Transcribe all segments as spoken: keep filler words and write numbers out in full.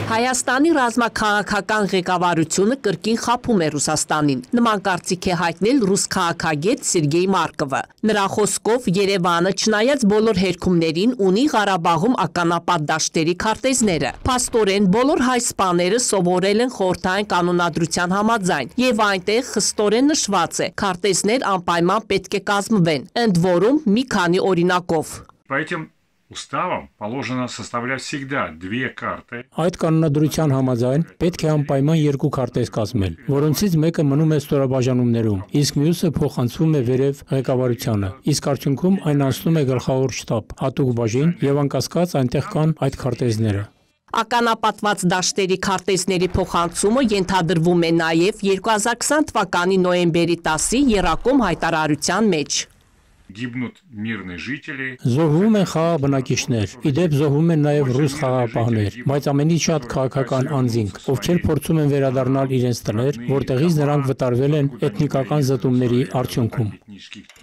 Հայաստանի ռազմաքաղաքական ղեկավարությունը կրկին խաբում է Ռուսաստանին։ Նման կարծիք է հայտնել ռուս քաղաքագետ Սերգեյ Մարկովը։ Նրա խոսքով Երևանը չնայած բոլոր հերքումներին ունի Ղարաբաղում ականապատ դաշտերի քարտեզները։ Փաստորեն բոլոր հայ սպաները սովորել են խորհրդային կանոնադրության համաձայն, եւ այնտեղ խստորեն նշված է՝ քարտեզներ անպայման պետք է կազմվեն, ընդ որում մի քանի օրինակով։ Уставом положено составлять всегда две карты. Այդ կանոնադրության համաձայն պետք է անպայման երկու քարտեզ կազմել, որոնցից մեկը մնում է ստորաբաժանումներում, իսկ մյուսը փոխանցվում է վերև ղեկավարությանը։ Իսկ արդյունքում այն անցնում է գլխավոր շտաբ, հատուկ բաժին եւ անկասկած այնտեղ կան այդ քարտեզները։ Ականապատված դաշտերի քարտեզների փոխանցումը ենթադրվում է նաև երկու հազար քսան թվականի նոյեմբերի տասի եռակոմ հայտարարության մեջ։ Գիբնուտ միրնե ժիտելի Զոհվում են խաղաղ բնակիչներ, իդեպ զոհվում են նաև ռուս խաղաղապահներ, բայց ամենից շատ քաղաքական անձինք, ովքեր փորձում են վերադառնալ իրենց տներ, որտեղից նրանք վտարվել են էթնիկական զտումների արդյունքում։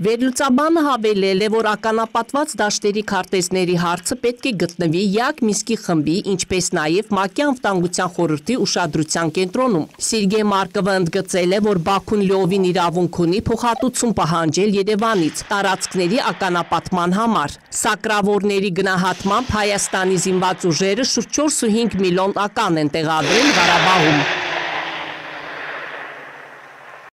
Վերլուծաբանը հավելել է, որ ականապատված դաշտերի քարտեզների հարցը պետք է գտնվի ԵԱՀԿ Մինսկի խմբի, ինչպես նաև ՄԱԿ-ի անվտանգության խորհրդի ուշադրության կենտրոնում։ Սերգեյ Մարկովը ընդգծել է, որ Բաքուն լիովին իրավունք ունի փոխհատուցում պահանջել Երևանից տարածքների ականապատման համար։ Սակրավորների գնահատմամբ Հայաստանի զինված ուժերը շուրջ չորս ու հինգ միլիոն ական են տեղադրել Ղարաբաղում։